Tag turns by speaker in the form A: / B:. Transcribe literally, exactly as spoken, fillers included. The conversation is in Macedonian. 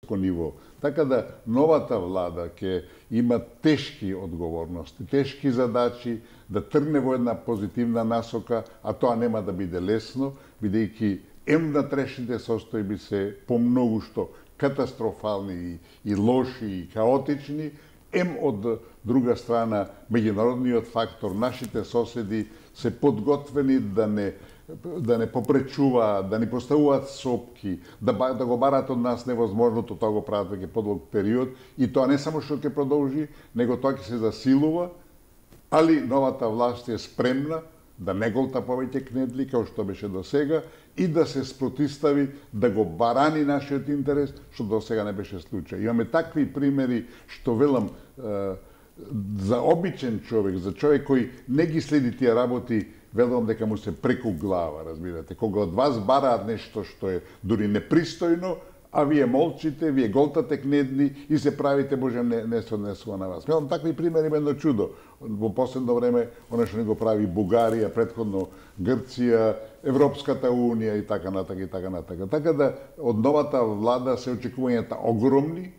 A: европско ниво. Така да новата влада ќе има тешки одговорности, тешки задачи да тргне во една позитивна насока, а тоа нема да биде лесно, бидејќи ем внатрешните состојби се помногу што катастрофални и, и лоши и хаотични, ем од друга страна меѓународниот фактор, нашите соседи се подготвени да не да не попречуваат, да ни поставуваат сопки, да, да го барат од нас невозможното, тоа го прават веќе подолг период, и тоа не само што ќе продолжи, него тоа ќе се засилува, али новата власт е спремна да не голта повеќе кнедли, као што беше до сега, и да се спротистави, да го барани нашиот интерес, што до сега не беше случај. Имаме такви примери, што велам, за обичен човек, за човек кој не ги следи тие работи, велам дека му се преку глава, разбирате. Кога од вас бараат нешто што е дури непристојно, а вие молчите, вие голтате кнедли и се правите, Боже, не, не се однесува на вас. Велам, такви примери има едно чудо. Во последно време, оно што не го прави Бугарија, предходно Грција, Европската Унија и така натака и така натака. Така да од новата влада се очекувањата огромни,